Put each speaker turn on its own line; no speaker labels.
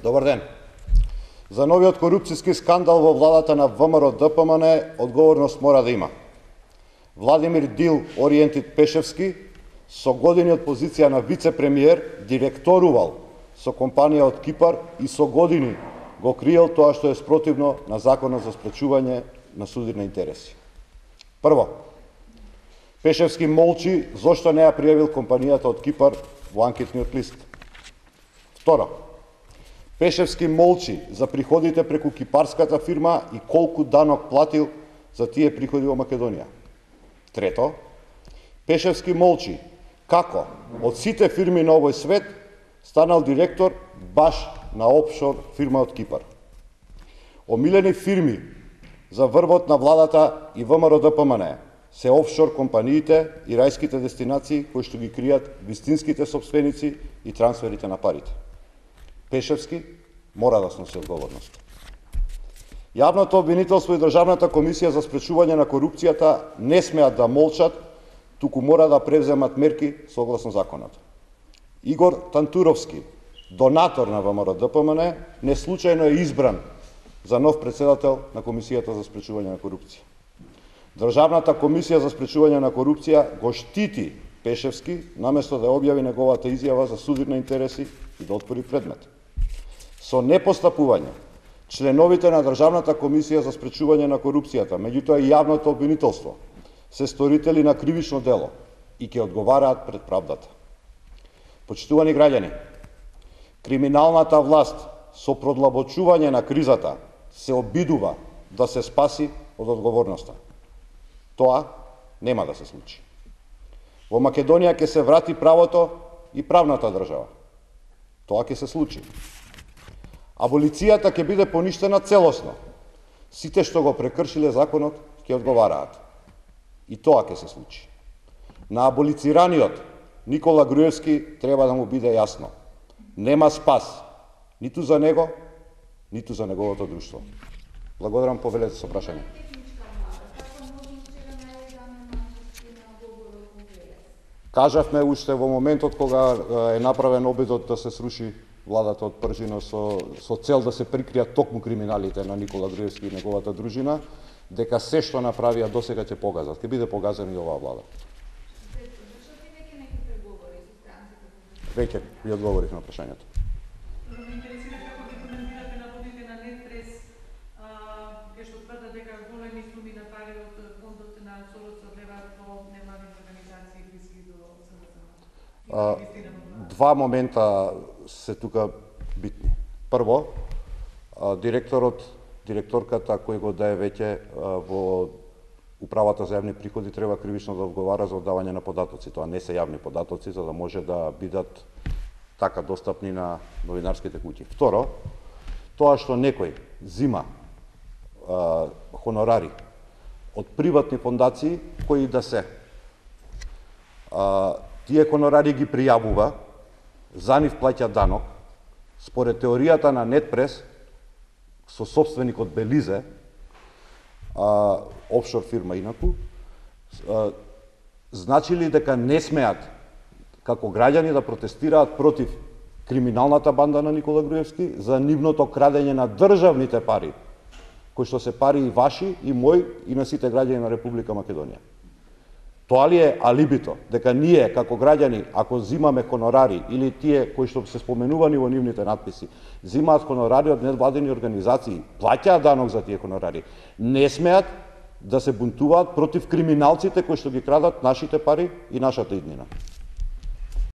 Добар ден. За новиот корупцијски скандал во владата на ВМРО-ДПМН одговорност мора да има. Владимир Дил Ориентит Пешевски со години од позиција на вице-премиер директорувал со компанија од Кипар и со години го криел тоа што е спротивно на Законот за спречување на суди на интереси. Прво, Пешевски молчи зошто не ја пријавил компанијата од Кипар во анкетниот лист. Второ, Пешевски молчи за приходите преку кипарската фирма и колку данок платил за тие приходи во Македонија. Трето, Пешевски молчи како од сите фирми на овој свет станал директор баш на офшор фирма од Кипар. Омилени фирми за врвот на владата и ВМРО-ДПМН се офшор компаниите и рајските дестинации кои што ги кријат вистинските сопственици и трансферите на парите. Пешевски мора да сноси одговорност. Јавното обвинителство и Државната комисија за спречување на корупцијата не смеат да молчат, туку мора да превземат мерки согласно законот. Игор Тантуровски, донатор на ВМРО-ДПМН, не случајно е избран за нов председател на Комисијата за спречување на корупција. Државната комисија за спречување на корупција го штити Пешевски наместо да објави неговата изјава за суди на интереси и да отвори предмет. Со непостапување, членовите на Државната комисија за спречување на корупцијата, меѓутоа и јавното обвинителство, се сторители на кривично дело и ќе одговараат пред правдата. Почитувани граѓани, криминалната власт со продлабочување на кризата се обидува да се спаси од одговорноста. Тоа нема да се случи. Во Македонија ќе се врати правото и правната држава. Тоа ќе се случи. Аболицијата ќе биде поништена целосно. Сите што го прекршиле законот ќе одговараат. И тоа ќе се случи. На аболицираниот Никола Груевски треба да му биде јасно. Нема спас ниту за него, ниту за неговото друштво. Благодарам, повелете со прашање. Кажавме уште во моментот кога е направен обидот да се сруши владата од Пржино со цел да се прикријат токму криминалите на Никола Груевски и неговата дружина, дека се што направија досега ќе погазат. Ќе биде погазена и оваа влада. Веќе ви одговорив на прашањето. Два момента се тука битни. Прво, директорката кој го дае веќе во Управата за јавни приходи треба кривично да одговара за оддавање на податоци. Тоа не се јавни податоци, за да може да бидат така достапни на новинарските куќи. Второ, тоа што некој зима хонорари од приватни фондации кои да се тие хонорари ги пријавува, за нив плаќа данок, според теоријата на Нетпрес, со собственикот Белизе, офшор фирма инаку, значи ли дека не смеат како граѓани да протестираат против криминалната банда на Никола Груевски за нивното крадење на државните пари, кои што се пари и ваши, и мои, и на сите граѓани на Република Македонија. Тоа ли е алибито, дека ние како граѓани, ако зимаме хонорари или тие кои што се споменувани во нивните надписи, зимаат хонорари од невладени организации, плаќаат данок за тие хонорари, не смеат да се бунтуваат против криминалците кои што ги крадат нашите пари и нашата иднина?